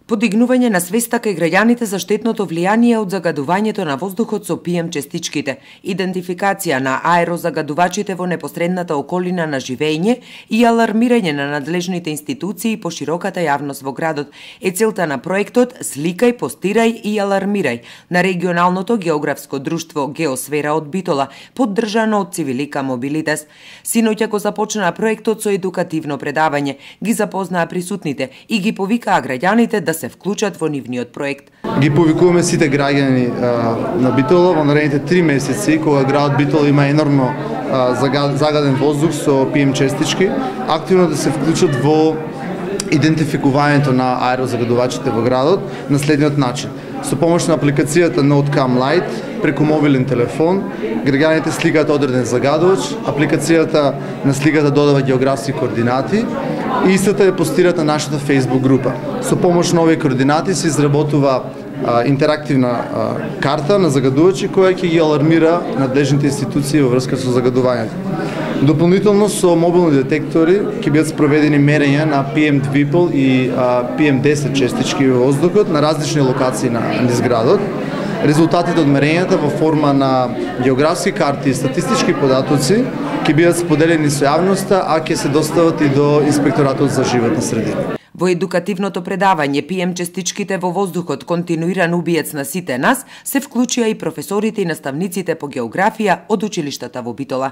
Подигнување на свеста кај граѓаните за штетното влијание од загадувањето на воздухот со PM честичките, идентификација на аерозагадувачите во непосредната околина на живење и алармирање на надлежните институции по широката јавност во градот е целта на проектот Сликај, постирај и алармирај на регионалното географско друштво Геосфера од Битола, поддржано од Цивилика Мобилитас. Синоќа го започна проектот со едукативно предавање, ги запознаа присутните и ги повикаа граѓаните да се вклучат во нивниот проект. Ги повикуваме сите граѓани на Битола во наредните 3 месеци, кога градот Битола има енормно загаден воздух со PM честички, активно да се вклучат во идентификувањето на аерозагадувачите во градот на следниот начин. Со помош на апликацијата NoteCam Lite, преку мобилен телефон, граѓаните сликаат одреден загадувач, апликацијата на сликата додава географски координати и истата ја постираат на нашата Facebook група. Со помош на овие координати се изработува интерактивна карта на загадувачи која ќе ги алармира надлежните институции во врска со загадувањето. Дополнително со мобилни детектори ќе бидат спроведени мерења на PM2,5 и PM10 честички во воздухот на различни локации на градот. Резултатите од мерењата во форма на географски карти и статистички податоци ќе бидат споделени со јавноста, а ќе се достават и до Инспекторатот за животна средина. Во едукативното предавање PM честичките во воздухот, континуиран убиец на сите нас, се вклучија и професорите и наставниците по географија од училиштата во Битола.